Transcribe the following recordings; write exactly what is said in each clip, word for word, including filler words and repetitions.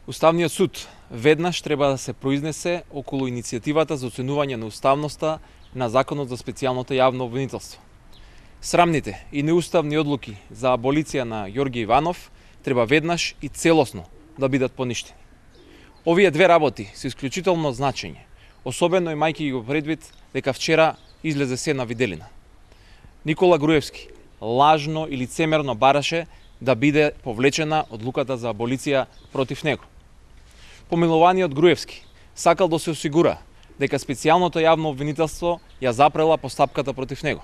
Уставниот суд веднаш треба да се произнесе околу иницијативата за оценување на уставноста на Законот за специјалното јавно обвинителство. Срамните и неуставни одлуки за аболиција на Ѓорги Иванов треба веднаш и целосно да бидат поништени. Овие две работи се исклучително значење, особено имајќи го предвид дека вчера излезе се на виделина. Никола Груевски лажно и лицемерно бараше да биде повлечена одлуката за аболиција против него. Помилуваниот Груевски сакал да се осигура дека специјалното јавно обвинителство ја запрела постапката против него.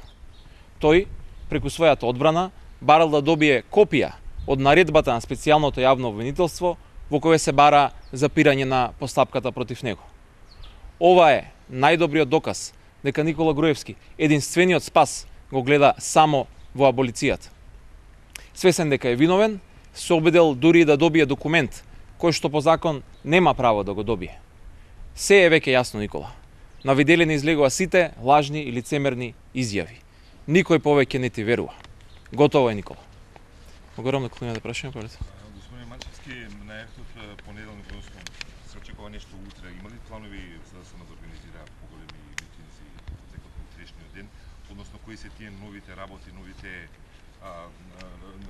Тој, преку својата одбрана, барал да добие копија од наредбата на специјалното јавно обвинителство во која се бара запирање на постапката против него. Ова е најдобриот доказ дека Никола Груевски, единствениот спас, го гледа само во аболицијата. Свесен дека е виновен, се обидел дури да добие документ кој што по закон нема право да го добие. Се е веќе јасно, Никола. На виделина излегува сите лажни и лицемерни изјави. Никој повеќе не ти верува. Готово е, Никола. Огромно клонија да прашаме, повелете. Господин Манчевски, најавте од понеделник, односно се очекува нешто утре. Има ли планови за да се организира поголеми митинзи текот на утрешниот ден? Односно, кои се тие новите работи, новите а,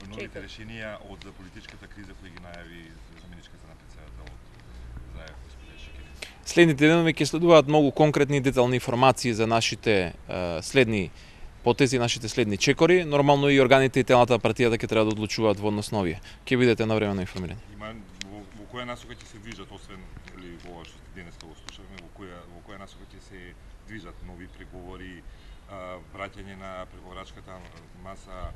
новите решенија од политичката криза кои ги најави заменичката на председател од Заев, господин Шекери? Следните денови ќе следуваат многу конкретни и детални информации за нашите е, следни потези, нашите следни чекори. Нормално и органите и телата партијата ќе треба да одлучуваат во однос на овие. Ќе бидете навремено информирани. Има во, во која насока ќе се движат, освен или ова што денес го слушавме, во која во која насока ќе се движат нови преговори, а, враќање на преговарачката маса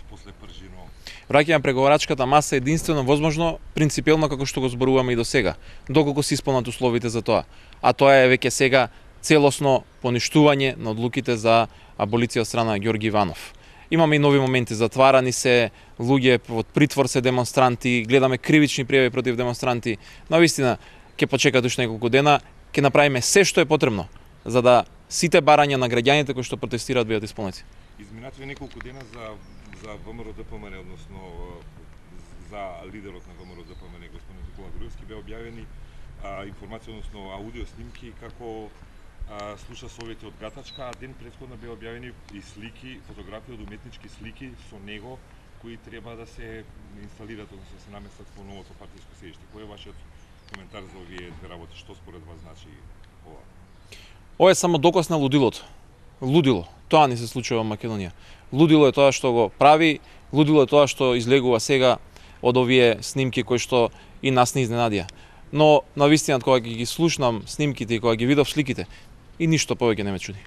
после Пржино? Враќање на преговарачката маса е единствено возможно, принципелно како што го зборуваме и до сега, доколку се исполнат условите за тоа. А тоа е веќе сега целосно поништување на одлуките за аболиција од страна на Ѓорги Иванов. Имаме и нови моменти, затварани се луѓе, од притвор се демонстранти, гледаме кривични пријави против демонстранти. На вистина ќе почекат уште неколку дена, ќе направиме се што е потребно за да сите барања на граѓаните кои што протестираат бидат исполнети. Изминативе неколку дена за за ВМРО-ДПМН, односно за лидерот на ВМРО-ДПМН, господин Никола Груевски, беа објавени а, информација, односно аудио снимки како а, слуша совети од Гатачка, а ден претходно беа објавени и слики, фотографии од уметнички слики со него кои треба да се инсталират, односно да се наместат во новото партиско седиште. Кој е вашиот коментар за овие две работи? Што според вас значи ова? Ова е само доказ на лудилото. Лудило. Тоа не се случува во Македонија. Лудило е тоа што го прави, лудило е тоа што излегува сега од овие снимки кои што и нас не изненадија. Но на вистина кога ги слушнам снимките и кога ги видов сликите, и ништо повеќе не ме чуди.